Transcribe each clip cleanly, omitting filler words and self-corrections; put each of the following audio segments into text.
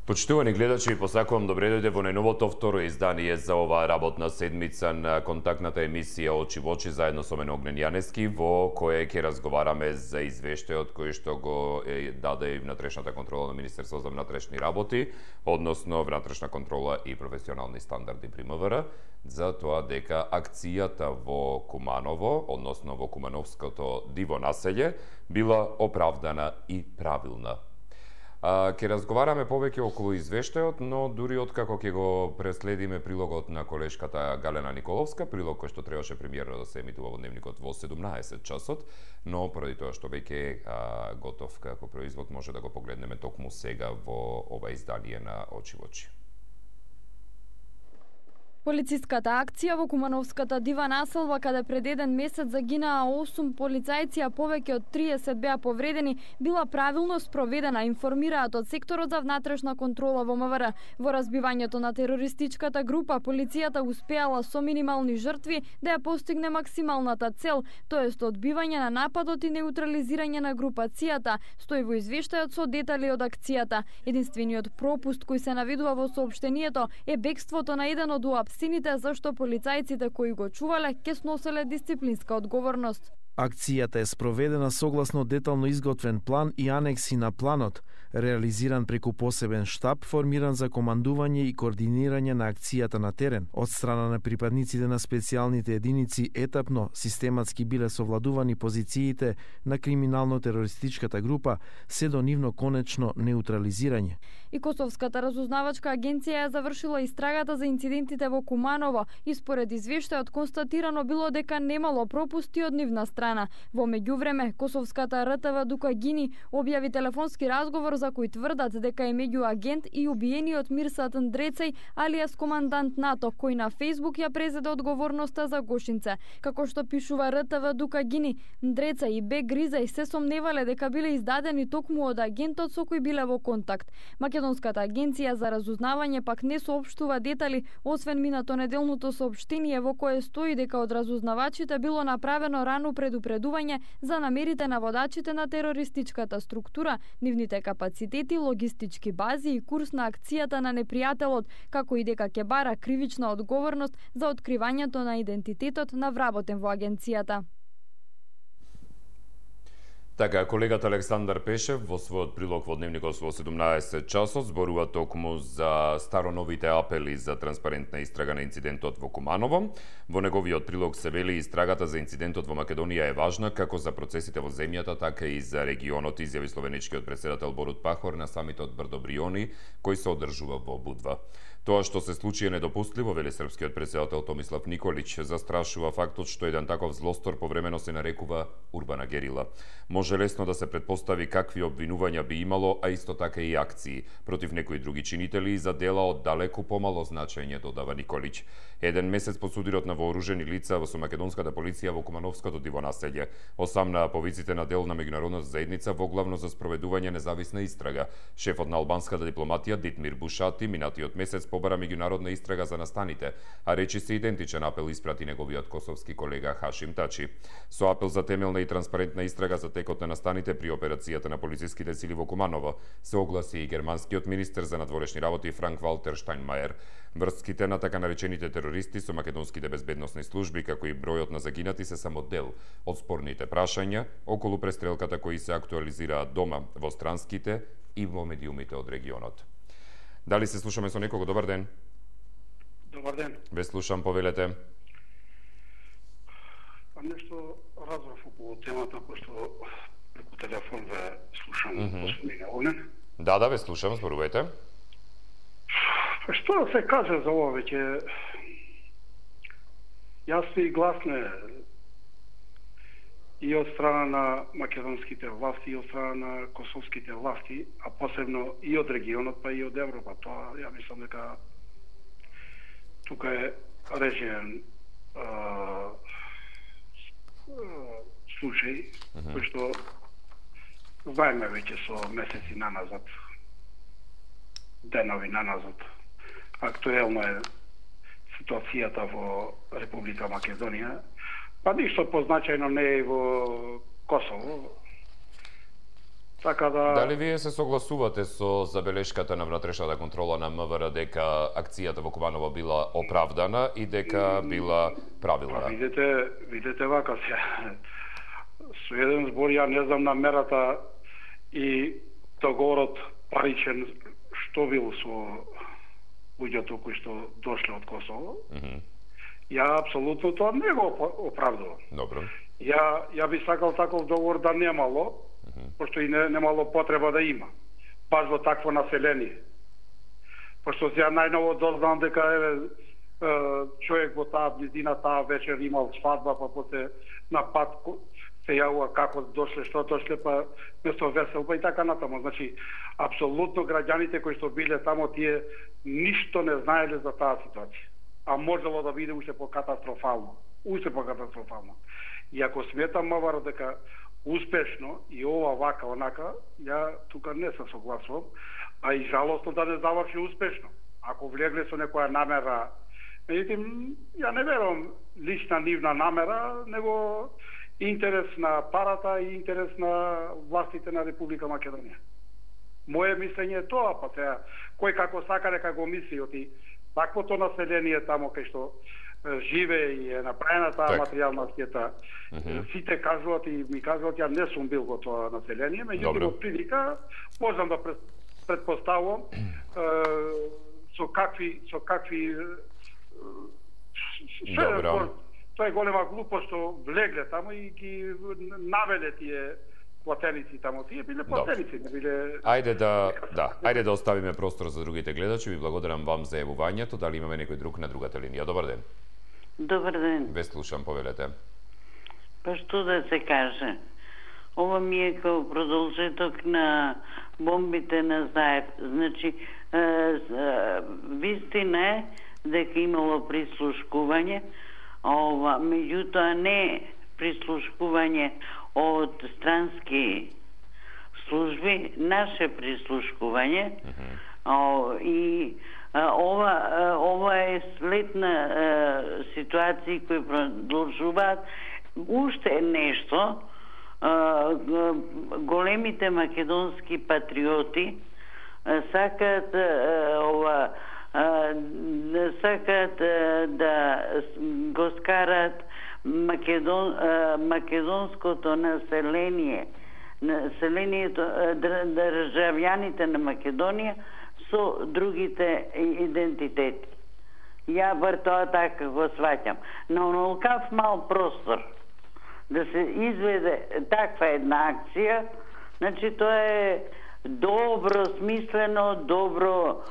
Почитувани гледачи, посакувам добре дојде во најновото второ издание за оваа работна седмица на контактната емисија Очи во очи заедно со мене Огнен Јаневски, во кое ќе разговараме за извештајот кој што го даде и внатрешната контрола на Министерство за внатрешни работи, односно внатрешна контрола и професионални стандарди при МВР, за тоа дека акцијата во Куманово, односно во Кумановското диво населје, била оправдана и правилна. Ќе разговараме повеќе околу извештајот, но дури откако ќе го преследиме прилогот на колешката Галена Николовска, прилог кој што требаше премиерно да се емитува во Дневникот во 17 часот, но поради тоа што веќе е готов како производ, може да го погледнеме токму сега во ова издание на Очи во очи. Полициската акција во Кумановската дива населба, каде пред еден месец загинаа 8 полицајци, а повеќе од 30 беа повредени, била правилно спроведена, информираат од секторот за внатрешна контрола во МВР. Во разбивањето на терористичката група, полицијата успеала со минимални жртви да ја постигне максималната цел, тоест одбивање на нападот и неутрализирање на групацијата, стои во извештајот со детали од акцијата. Единствениот пропуст кој се наведува во соопштението е бегството на еден од сините, зашто полицајците кои го чувале ќе сноселе дисциплинска одговорност. Акцијата е спроведена согласно детално изготвен план и анекси на планот, реализиран преку посебен штаб формиран за командување и координирање на акцијата на терен. Од страна на припадниците на специјалните единици етапно, систематски биле совладувани позициите на криминално-терористичката група, се до нивно конечно неутрализирање. И Косовската разузнавачка агенција ја завршила истрагата за инцидентите во Куманово и според извештајот констатирано било дека немало пропусти од нивна страна. Во меѓувреме, Косовската РТВ Дукагини објави телефонски разговор за кој тврдат дека е меѓу агент и убиениот Мирсат Ндрецеј, алијас командант НАТО, кој на Фејсбук ја презеде одговорноста за Гошинце. Како што пишува РТВ Дукагини, Ндрецеј и Б Гризеј се сомневале дека биле издадени токму од агентот со кој биле во контакт. Македонската агенција за разузнавање пак не соопштува детали, освен минато неделното соопштение во кое стои дека од разузнавачите било направено рано предупредување за намерите на водачите на терористичката структура, нивните капацитети, логистички бази и курс на акцијата на непријателот, како и дека ќе бара кривична одговорност за откривањето на идентитетот на вработен во агенцијата. Така, колегата Александар Пешев во својот прилог во Дневникот во 17 часот зборува токму за староновите апели за транспарентна истрага на инцидентот во Куманово. Во неговиот прилог се вели истрагата за инцидентот во Македонија е важна како за процесите во земјата, така и за регионот, изјави словеничкиот претседател Борут Пахор на самитот Брдо Бриони, кој се одржува во Будва. Тоа што се случи е недопустливо, вели српскиот претседател Томислав Николич. Застрашува фактот што еден таков злостор повремено се нарекува урбана герила. Може лесно да се претпостави какви обвинувања би имало, а исто така и акции против некои други чинители и за дела од далеку помало значење, додава Николич. Еден месец по судирот на вооружени лица со македонската полиција во Кумановското диво населје, осамнаа повиците на дел на меѓународната заедница во главно за спроведување независна истрага. Шефот на албанската дипломатија Дитмир Бушати минатиот месец побара меѓународна истрага за настаните, а речи се идентичен апел испрати неговиот косовски колега Хашим Тачи. Со апел за темелна и транспарентна истрага за текот на настаните при операцијата на полициските сили во Куманово се огласи и германскиот министер за надворешни работи Франк Валтер Штајнмајер. Врските на така наречените терористи со македонските безбедносни служби, како и бројот на загинати се само дел од спорните прашања околу престрелката кои се актуализираат дома во странските и во медиумите од регионот. Дали се слушаме со некого? Добар ден. Добар ден. Ве слушам, повелете. Нешто разбрав околу темата, пошто преку телефон ве слушам господине Огнен. Да, ве слушам, зборувајте. Што да се каже за ова веќе јасно и гласно и од страна на македонските власти, и од страна на косовските власти, а посебно и од регионот, па и од Европа. Тоа, ја мислам дека тука е режиен случај, кој што знаеме веќе со месеци наназад, денови наназад. Актуелно е ситуацијата во Република Македонија, па ништо позначајно не е во Косово. Така да... Дали вие се согласувате со забелешката на внатрешната контрола на МВР дека акцијата во Куманово била оправдана и дека била правилна? Видете вака се. Со еден збор, ја не знам намерата и договорот паричен што бил со луѓето кои што дошле од Косово. Ја апсолутно тоа не го оправдувам. Добро. Ја би сакал таков договор да немало, пошто и немало потреба да има. Баш во такво население. Пошто ја најново дознам дека човек во таа близина таа вечер имал свадба, па после на пат се јавува како дошле, што дошле, па место весел, па и така натаму. Значи, апсолутно граѓаните кои што биле тамо, тие ништо не знаеле за таа ситуација. А можело да биде уште покатастрофално. И ако сметам МВР дека успешно и ова вака онака, ја тука не се согласувам, а и жалосно да не заврши успешно. Ако влегле со некоја намера, меѓутоа ја не верувам лична нивна намера, него интерес на парата и интерес на властите на Република Македонија. Моje мислење е тоа, па сега кој како сака дека го мисли, оти таквото население тамо кај што живее и е направена таа материјална штета. Сите кажуваат и ми кажуваат, ја не сум бил во тоа население, меѓутоа од прилика можам да претпоставувам со какви тоа е голема глупост што влегле тамо и ги навеле тие платеници тамо. Тие биле платеници, не биле... Ајде да оставиме простор за другите гледачи. Ви благодарам вам за јавувањето. Дали имаме некој друг на другата линија? Добар ден. Добар ден. Ве слушам, повелете. Па што да се каже? Ова ми е као продолжеток на бомбите на Заев. Значи, вистина е дека имало прислушкување, меѓутоа не прислушкување од странски служби, наше прислушкување, и ова е след на ситуации кои продолжуваат. Уште нешто, големите македонски патриоти сакаат да го скарат македонското населението, државјаните на Македонија со другите идентитети. Ја бар тоа така го сваќам. На онолкав мал простор да се изведе таква една акција, значи тоа е добро смислено, добро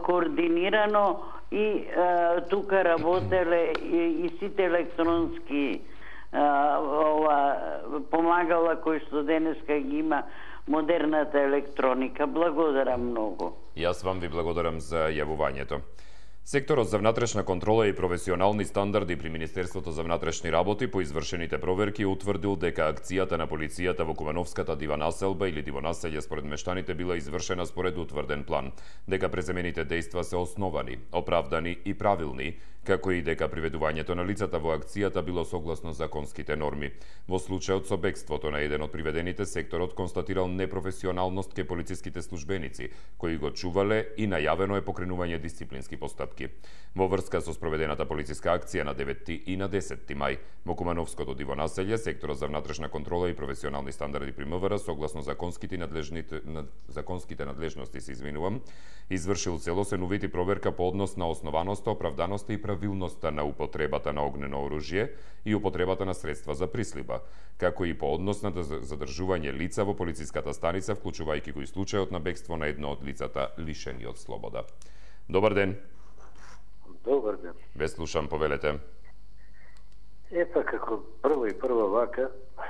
координирано и тука работеле и сите електронски помагала кои што денеска ги има модерната електроника. Благодарам многу. Јас вам ви благодарам за јавувањето. Секторот за внатрешна контрола и професионални стандарди при Министерството за внатрешни работи по извршените проверки утврдил дека акцијата на полицијата во Кумановската дивонаселба или дивонаселје според мештаните била извршена според утврден план, дека преземените дејства се основани, оправдани и правилни, како и дека приведувањето на лицата во акцијата било согласно законските норми. Во случајот со бегството на еден од приведените, секторот констатирал непрофесионалност ке полициските службеници, кои го чувале и најавено е покренување дисциплински постапки. Во врска со спроведената полициска акција на 9 и на 10 мај, во Кумановското дивонаселје, секторот за внатрешна контрола и професионални стандарди при МВР, согласно законските надлежности, извршил целосен увид и проверка по однос на основаноста, оправданоста и правилноста на употребата на огнено оружје и употребата на средства за прислиба, како и по однос на задржување лица во полициската станица, вклучувајќи го и случајот на бегство на едно од лицата лишени од слобода. Добар ден. Добар ден. Ве слушам, повелете. Епа како прва вака,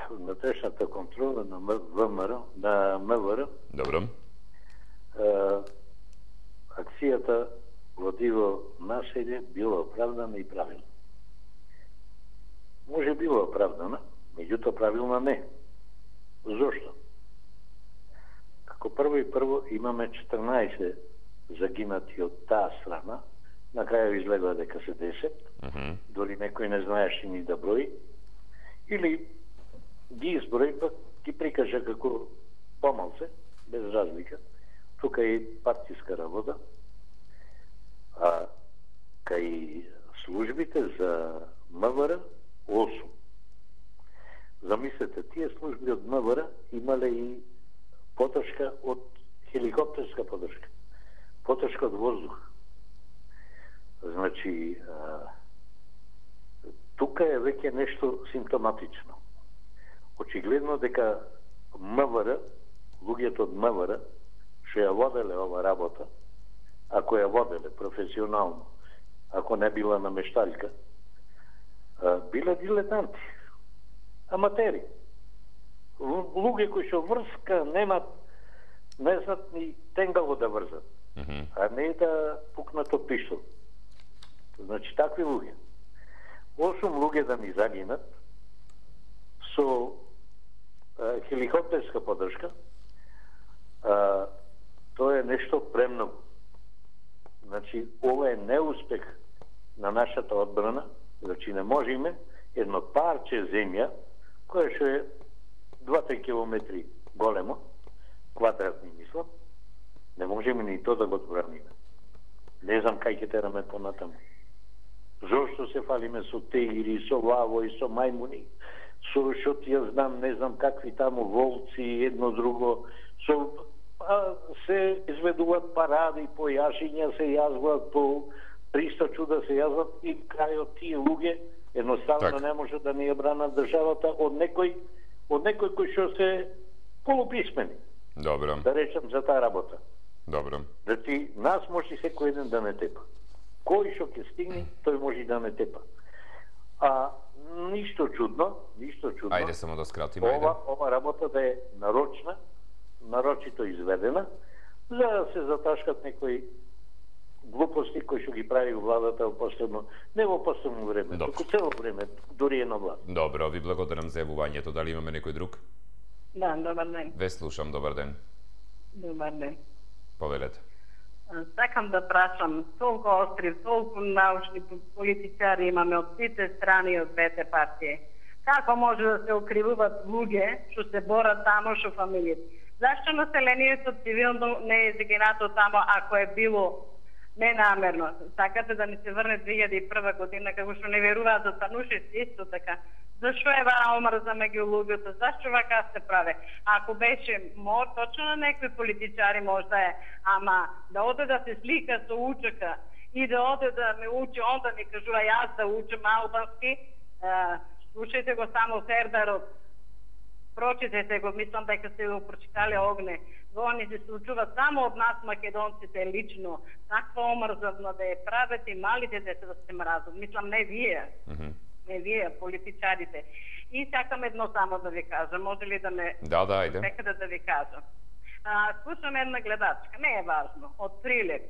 внатрешната контрола на МВР. Добро. Акцијата во диво населје била оправдана и правилна. Може била оправдана, меѓутоа правилна не. Зошто? Како прво имаме 14 загинати од таа страна, на крајот излега дека се 10, дори некој не знаеше ни да брои, или ги изброи, пак ги прикажа како помалце, без разлика. Тука е партиска работа, а кај службите за МВР 8. Замислете, тие служби од МВР имале и подршка од хеликоптерска подршка, подршка од воздух. Значи, тука е веќе нешто симптоматично. Очигледно дека МВР, луѓето од МВР, што ја воделе ова работа, ако ја воделе професионално, ако не била намешталка, биле дилетанти, аматери. Луѓе кои што врска немат, не знаат ни тенгаво да врзат, а не да пукнат од пиштол. Значи, такви луѓе. 8 луѓе да ни загинат со хеликоптерска подршка, тоа е нешто премногу. Значи, ова е неуспех на нашата одбрана, значи не можеме едно парче земја, кое што е 2-3 километри големо, квадратни мислам, не можеме ни то да го одбраниме. Не знам кај ќе тераме понатаму. Зошто се фалиме со тегири, со лавои, со мајмуни, со што ти ја знам, не знам какви таму волци, едно друго, со се изведуваат паради, по јашиња се јазваат, по 300 чуда се јазваат и крајот тие луѓе едноставно не може да ни ја бранат државата од некој кој што се полуписмени. Добро. Да речем за таа работа. Добро. Значи, нас може секој еден да не тепа. Кој што ќе стигне, тој може да не тепа. А ништо чудно. Ајде само да скратиме, ова работа да е нарочито изведена, за да се заташкат некои глупости кои што ги прави владата во последно, не во последно време, туку цело време, дури една влада. Добро, ви благодарам за јавувањето. Дали имаме некој друг? Да, добар ден. Ве слушам, добар ден. Добар ден. Повелете. Сакам да прашам, толку остри, толку научни политичари имаме од сите страни и од двете партии. Како може да се окривуваат луѓе што се борат тамо што фамилиите? Зашто населението цивилно не е загинато тамо ако е било ненамерно? Сакате да ни се врне 2001 година како што не веруваат за Станушевски исто така. Зашто е вара омрза меѓу луѓето? Зашто вака се прави? Ако беше точно на некои политичари можда е, ама да оде да се слика со учека и да оде да ме учи, он да ми кажува јас да учам албански, слушајте го само Сердарот, прочитете го, мислам дека сте го прочитали Огне. Они се случува само од нас македонците лично. Таква омрза да ја правят и малите деца да се мразат. Мислам не вие. Не вие, политичарите. И сакам едно само да ви кажам. Може ли да ме... Да, ајде. Секаде да ви кажам. Слушам една гледачка, не е важно, од Прилеп,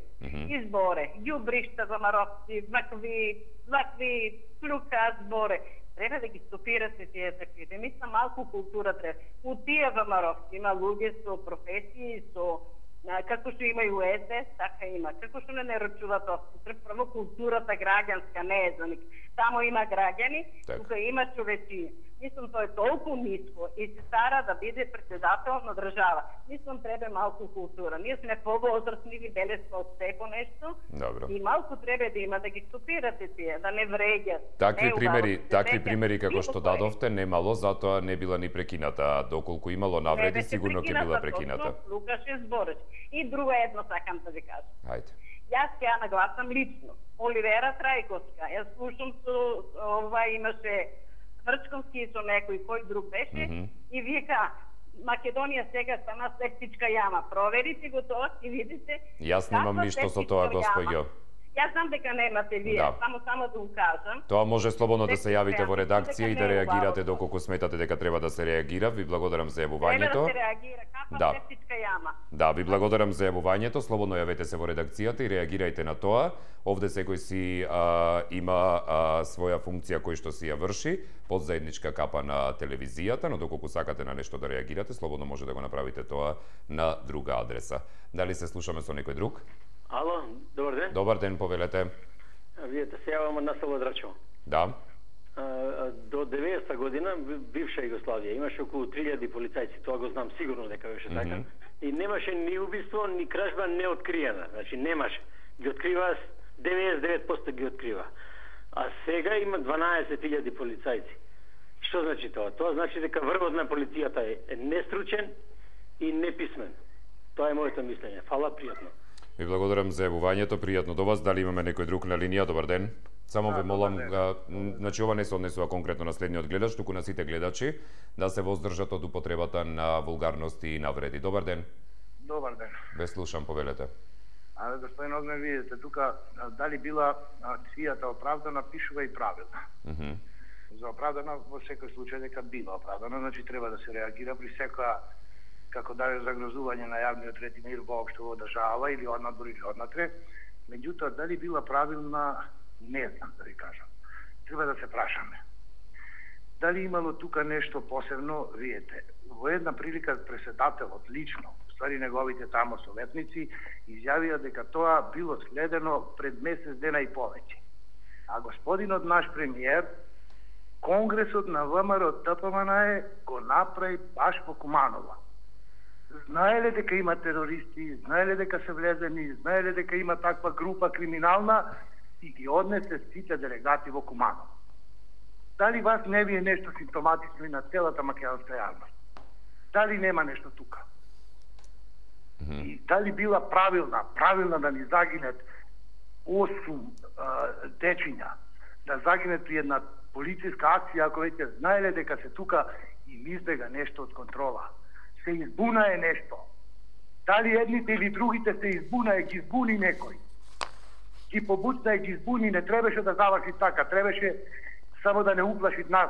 изборе, ѓубришта за маровци, вакви плюка зборе. Треба да ги стопирате тие таквите. Мислам, малку култура треба. У тие ВМРО има луѓе со професии, со како што има и у СДС, така има. Како што не наручуваат прво културата граѓанска, не е за ник. Тамо има граѓани, тука има човечи. Мислам, тоа е толку ниско и се стара да биде председател на држава. Мислам, треба малку култура. Ние сме повозрастни, виделе сме од секо нешто. Добро. И малку треба да има да ги стопирате тие, да не вреѓат. Такви примери како што дадовте немало, затоа не била ни прекината. Доколку имало навреди, сигурно ќе била прекината. Лукаше збореш. И друго едно сакам да ви кажам. Ајде. Јас ќе ја нагласам лично. Оливера Трајковска. Јас слушам со имаше Врчковски со некој кој друг беше и вика Македонија сега стана септичка јама. Проверите го тоа и видите. Јас немам ништо со тоа, господјо. Јас знам дека немате вие, само да го кажам. Тоа може слободно да се јавите во редакција и да реагирате доколку сметате дека треба да се реагира. Ви благодарам за јавувањето. Треба да се реагира, каква септичка јама. Да, ви благодарам за јавувањето. Слободно јавете се во редакцијата и реагирајте на тоа. Овде секој си има своја функција кој што си ја врши под заедничка капа на телевизијата, но доколку сакате на нешто да реагирате, слободно може да го направите тоа на друга адреса. Дали се слушаме со некој друг? Ало, добар ден. Добар ден, повелете. Вие се јавам од насело Драчево. Да. до 90-та година бивша Југославија имаше околу 3000 полицајци, тоа го знам сигурно дека беше така. И немаше ни убиство, ни кражба неоткриена. Значи немаше. Ги открива 99% ги открива. А сега има 12.000 полицајци. Што значи тоа? Тоа значи дека врвот на полицијата е нестручен и неписмен. Тоа е моето мислење. Фала, пријатно. Ви благодарам за јавувањето, пријатно до вас. Дали имаме некој друг на линија? Добар ден. Само ве молам, значи ова не се однесува конкретно на следниот гледач, туку на сите гледачи, да се воздржат од употребата на вулгарности и навреди. Добар ден. Добар ден. Ве слушам, повелете. Господин Огнев, видите, тука дали била акцијата оправдана, пишува и правилна. За оправдана во секој случај дека била оправдана, значи треба да се реагира при секоја како дали загрозување на јавниот ред и мир воопшто во држава или однадвор или однатре. Меѓутоа, дали била правилна, не знам да ви кажам. Треба да се прашаме. Дали имало тука нешто посебно, видите, во една прилика председателот лично, ствари неговите тамо советници, изјавија дека тоа било следено пред месец дена и повеќе. А господинот наш премиер, Конгресот на ВМРО ДПМН го направи баш во Куманово. Знаеле дека има терористи, знаеле дека се влезени, знаеле дека има таква група криминална и ги однесе сите делегати во Куманово. Дали вас не ви е нешто симптоматично и на целата македонска јавност? Дали нема нешто тука? И дали била правилна да ни загинат 8 дечиња, да загинат при една полициска акција, ако веќе знаеле дека се тука и избега нешто од контрола. Се избунае нешто. Дали едните или другите се избунае, ги избуни некој. Ги побуцна и ги избуни, не требаше да заврши така, требаше само да не уплаши нас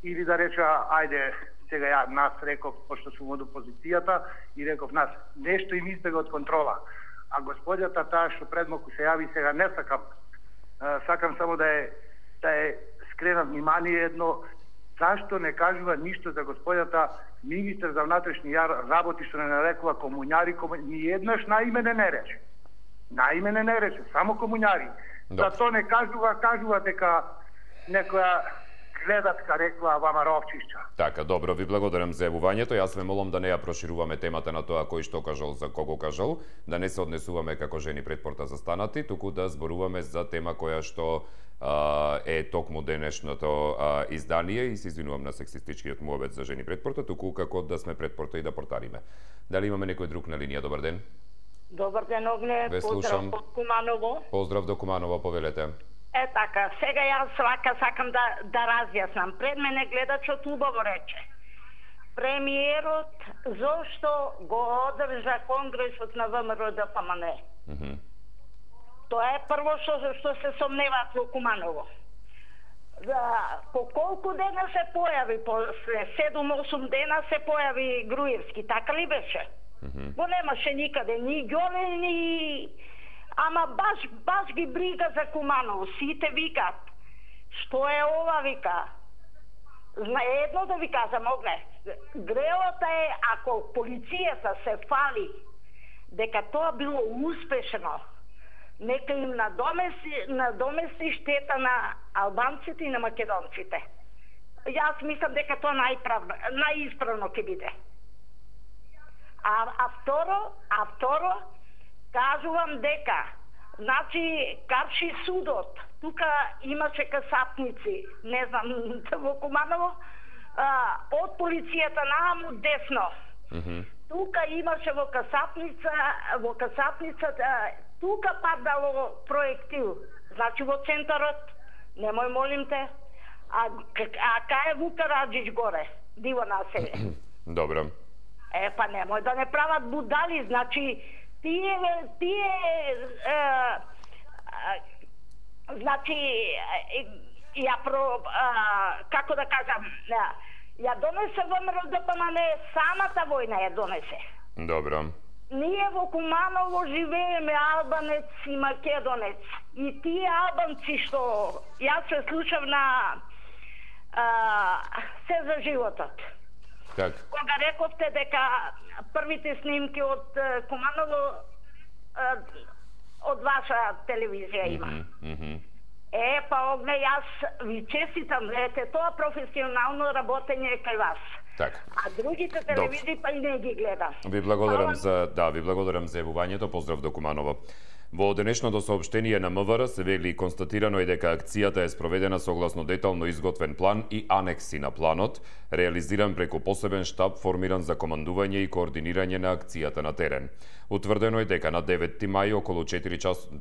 или да рече, ајде, сега ја нас реков, пошто сум од опозицијата, и реков нас, нешто им избега од контрола. А господјата таа што предмалку се јави, сега не сакам, сакам само да е скрена внимание едно, зашто не кажува ништо за господјата министер за внатрешни работи што не нарекува комуњари, ни еднаш наимене не рече. Наимене не рече, само комуњари. За тоа не кажува дека некоја гледачка рекла вама ровчишча. Така, добро, ви благодарам за јавувањето. Јас ве молам да не ја прошируваме темата на тоа кој што кажал за кого кажал, да не се однесуваме како жени пред порта застанати, туку да зборуваме за тема која што е токму денешното издание и се извинувам на сексистичкиот муабет за жени пред порта, туку како да сме пред порта и да портариме. Дали имаме некој друг на линија? Добар ден. Добар ден, Огне, поздрав од Куманово. Поздрав до Куманово, повелете. Така, сега јас сакам да разјаснам. Пред мене гледачот убаво рече. Премиерот зошто го одржа Конгресот на ВМРО ДПМН? Тоа е прво што се сомневаат во Куманово. По колку дена се појави, после 7-8 дена се појави Груевски, така ли беше? Го немаше никаде, ни ѓоле, ни... Ама баш ги брига за Куманово, сите викат. Што е ова, вика? Едно да ви кажам, Огне, грелата е, ако полицијата се фали дека тоа било успешно, нека им надомести штета на албанците и на македонците. Јас мислам дека тоа најисправно ќе биде. А второ, кажувам дека, значи, карши судот, тука имаше касапници, не знам, во Куманово, од полицијата нааму десно. Тука имаше во касапницата, тука падало проектил, значи во центарот, немој молим те, а кај е Вука Раджич горе, диво населе. Добро. Па немој да не прават будали, значи, значи, како да кажам, ја донесе ВМРО ДПМН, самата војна ја донесе. Добро. Ние во Куманово живееме албанец и македонец. И тие албанци што јас се слушав на се за животот. Так. Кога рековте дека првите снимки од Куманово од ваша телевизија има. Па огне, јас ви честитам, знаете, тоа професионално работење е кај вас. Така. А другите телевизии па и не ги гледам. Ви благодарам за јавувањето. Поздрав до Куманово. Во денешното соопштение на МВР се вели констатирано е дека акцијата е спроведена согласно детално изготвен план и анекси на планот, реализиран преку посебен штаб формиран за командување и координирање на акцијата на терен. Утврдено е дека на 9 мај околу 4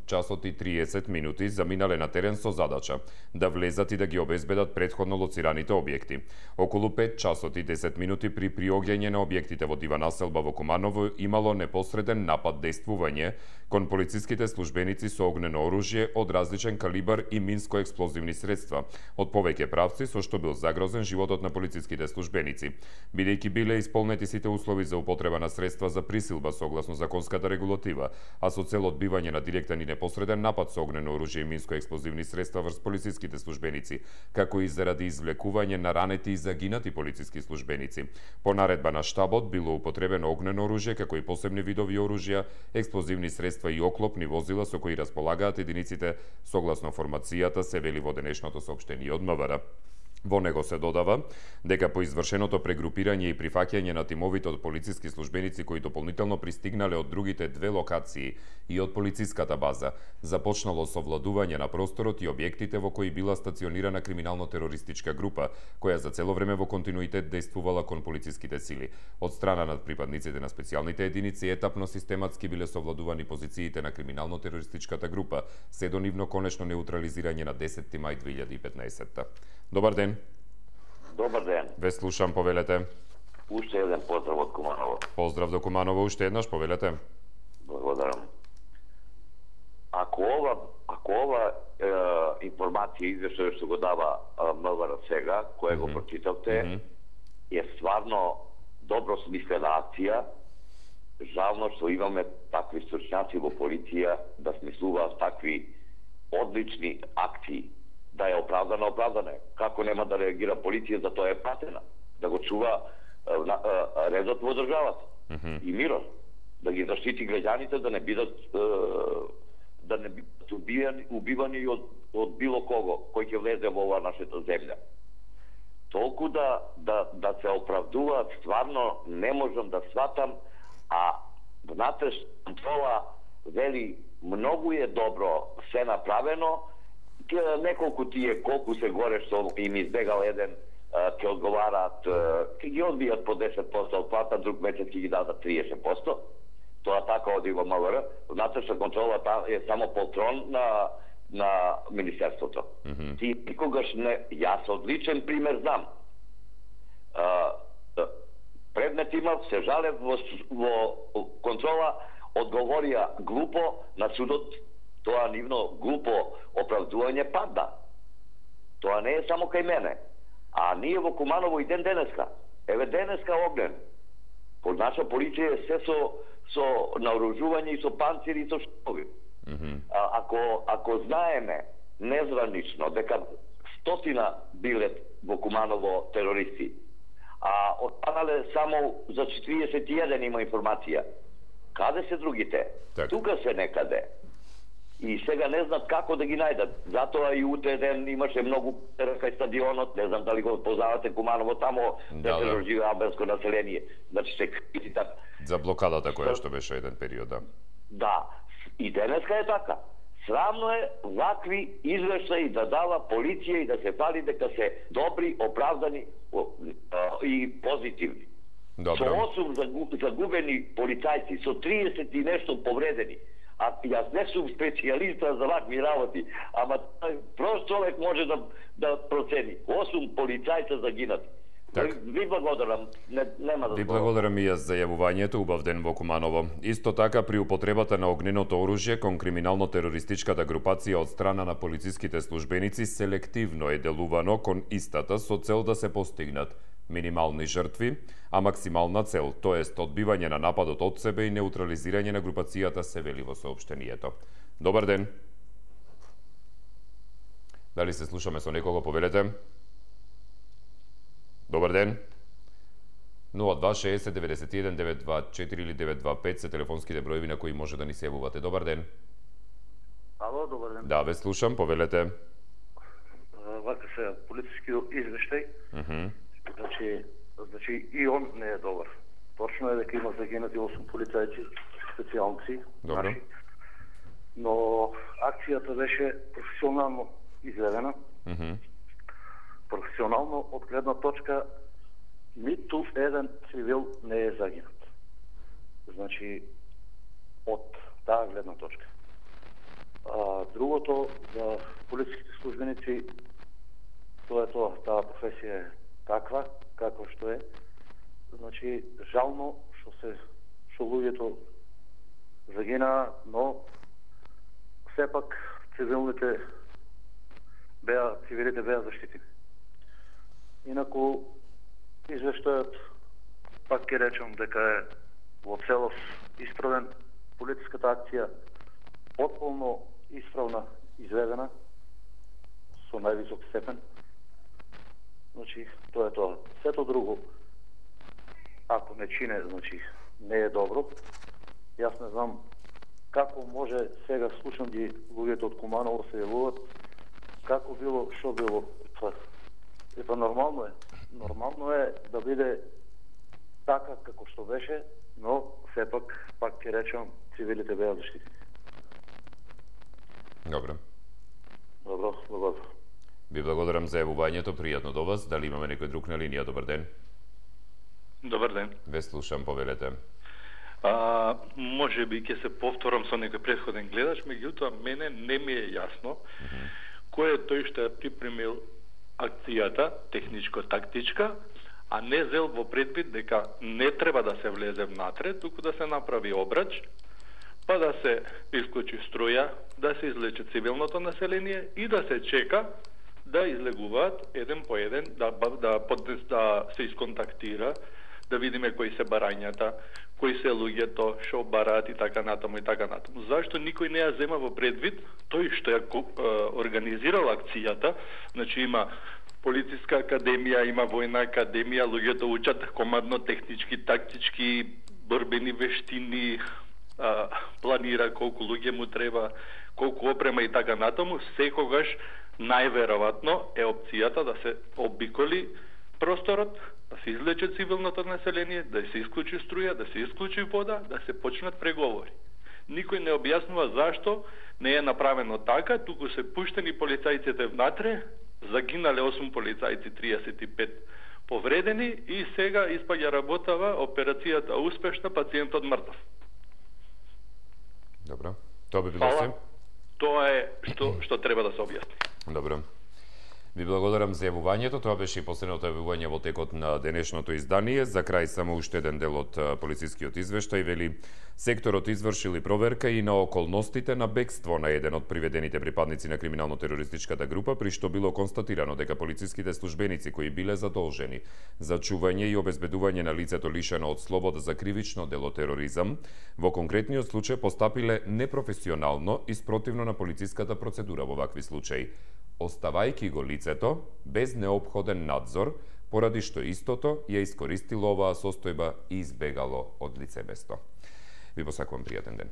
часот и 30 минути заминале на терен со задача да влезат и да ги обезбедат претходно лоцираните објекти. Околу 5 часот и 10 минути при приоѓање на објектите во дива населба во Куманово имало непосреден напад дејствување кон полициските службеници со огнено оружје од различен калибар и минско-експлозивни средства од повеќе правци, со што бил загрозен животот на полициските службеници. Бидејќи биле исполнети сите услови за употреба на средства за присилба согласно законската регулатива, а со цел одбивање на директен и непосреден напад со огнено оружје и минско-експлозивни средства врз полициските службеници, како и заради извлекување на ранети и загинати полициски службеници. По наредба на штабот било употребено огнено оружје, како и посебни видови оружја, експлозивни средства и оклопни возила со кои располагаат единиците согласно формацијата, се вели во денешното соопштение од МВР. Во него се додава дека по извршеното прегрупирање и прифаќање на тимовите од полициски службеници кои дополнително пристигнале од другите две локации и од полициската база, започнало совладување на просторот и објектите во кои била стационирана криминално-терористичка група, која за цело време во континуитет дејствувала кон полициските сили. Од страна на припадниците на специјалните единици етапно систематски биле совладувани позициите на криминално-терористичката група, се до нивно конечно неутрализирање на 10 мај 2015. Добар ден. Добар ден. Ве слушам, повелете. Уште еден поздрав од Куманово. Поздрав до Куманово, уште еднаш, повелете. Благодарам. Ако ова информација извештај што го дава МВР сега, која го прочитавте, е стварно добро смислена акција. Жално што имаме такви стручњаци во полиција да смислуваат такви одлични акции. Да е оправдана. Како нема да реагира полиција, за тоа е пратена. Да го чува редот во државата. И мирот. Да ги заштити граѓаните, да не бидат убивани од било кого кој ќе влезе во оваа нашата земја. Толку да се оправдуваат, стварно не можам да сватам, а внатрешна контрола вели многу е добро се направено. Неколку тие колку се горе што им избегал еден ќе одговараат, ќе ги одбијат по 10% од плата, друг месец ќе ги дадат 30%. Тоа така оди во МВР. Внатрешна контрола е само полтрон на Министерството. Ти никогаш не... Јас одличен пример знам. Предмет имав, се жалев во контрола, одговорија глупо на судот. Тоа нивно глупо оправдување падна. Тоа не е само кај мене. А ние во Куманово и денеска. Еве денеска огнен. Под наша полиција е се со наоружување и со панцири и со штови. Ако знаеме незванично дека 100 биле во Куманово терористи, а останале само за 41 има информација. Каде се другите? Тука се некаде. И сега не знаат како да ги најдат. Затоа и утре ден имаше многу кај стадионот, не знам дали го познавате Куманово, тамо се живее албанско население. Значи се крити така. За блокадата која што беше еден период, да. Да, и денеска е така. Срамно е вакви извештаи да дава полиција и да се фали дека се добри, оправдани и позитивни. Со 8 загубени полицајци, со 30 и нешто повредени. А јас не сум специјалиста за вакви работи, ама прост човек може да процени. 8 полицајца загинати. Ви благодарам. Нема да. Ви благодарам и јас за јавувањето. Убав ден во Куманово. Исто така при употребата на огненото оружје кон криминално-терористичката групација од страна на полициските службеници селективно е делувано кон истата со цел да се постигнат минимални жртви, а максимална цел, тоест одбивање на нападот од себе и неутрализирање на групацијата, се вели во соопштението. Добар ден. Дали се слушаме со некого, повелете? Добар ден. 0260 91 924 или 925 се телефонските броеви на кои може да ни се јавувате. Добар ден. Ало, добар ден. Да, ве слушам, повелете. вака се полицискиот извештај, значи и он не е добар. Точно е дека има загинати 8 полицајци, специјалци, наши, но акцијата беше професионално изведена. Професионално од гледна точка ниту еден цивил не е загинат. Значи, од таа гледна точка. Другото, за полициските службеници, тоа е тоа, таа професија е таква, како што е. Значи, жално што луѓето загинаа, но сепак цивилите беа заштитени. Инаку, извештајот, пак ќе речам дека е во целост исправен, полициската акција потполно исправна, изведена, со највисок степен. Значи, тоа е тоа. Сето друго, ако не чине, значи, не е добро. Јас не знам како може сега слушам ги луѓето од Куманово се јавуваат, како било, што било. Епа нормално е. Нормално е да биде така како што беше, но сепак, пак ќе речам, цивилите беа заштитени. Добро. Добро. Ви благодарам за јавувањето, пријатно до вас. Дали имаме некој друг на линија? Добар ден. Добар ден. Ве слушам, повелете. Може би ќе се повторам со некој претходен гледач, меѓутоа мене не ми е јасно кој е тој што ја припремил акцијата, техничко-тактичка, а не зел во предвид дека не треба да се влезе внатре, туку да се направи обрач, па да се исклучи струја, да се излече цивилното население и да се чека да излегуваат еден по еден, да се исконтактира, да видиме кои се барањата, кои се луѓето, што бараат и така натаму и така натаму. Зашто никој не ја зема во предвид тој што ја организирал акцијата, значи има полициска академија, има војна академија, луѓето учат командно-технички, тактички, борбени вештини, планира колку луѓе му треба, колку опрема и така натаму, секогаш најверојатно е опцијата да се обиколи просторот, да се излече цивилното население, да се исклучи струја, да се исклучи вода, да се почнат преговори. Никој не објаснува зашто не е направено така, туку се пуштени полицајците внатре, загинале 8 полицајци, 35 повредени и сега испаѓа работава операцијата успешна, пациентот мртов. Добро. Тоа би било се. Тоа е што треба да се објасни. Добро. Ви благодарам за јавувањето. Тоа беше и последното јавување во текот на денешното издание. За крај само уште еден дел од полицискиот извештај вели: секторот извршили проверка и на околностите на бегство на еден од приведените припадници на криминално-терористичката група, при што било констатирано дека полициските службеници кои биле задолжени за чување и обезбедување на лицето лишено од слобода за кривично дело тероризам, во конкретниот случај постапиле непрофесионално и спротивно на полициската процедура во вакви случаи, оставајќи го лицето без неопходен надзор, поради што истото ја искористило оваа состојба и избегало од лице место. Ви посакувам пријатен ден.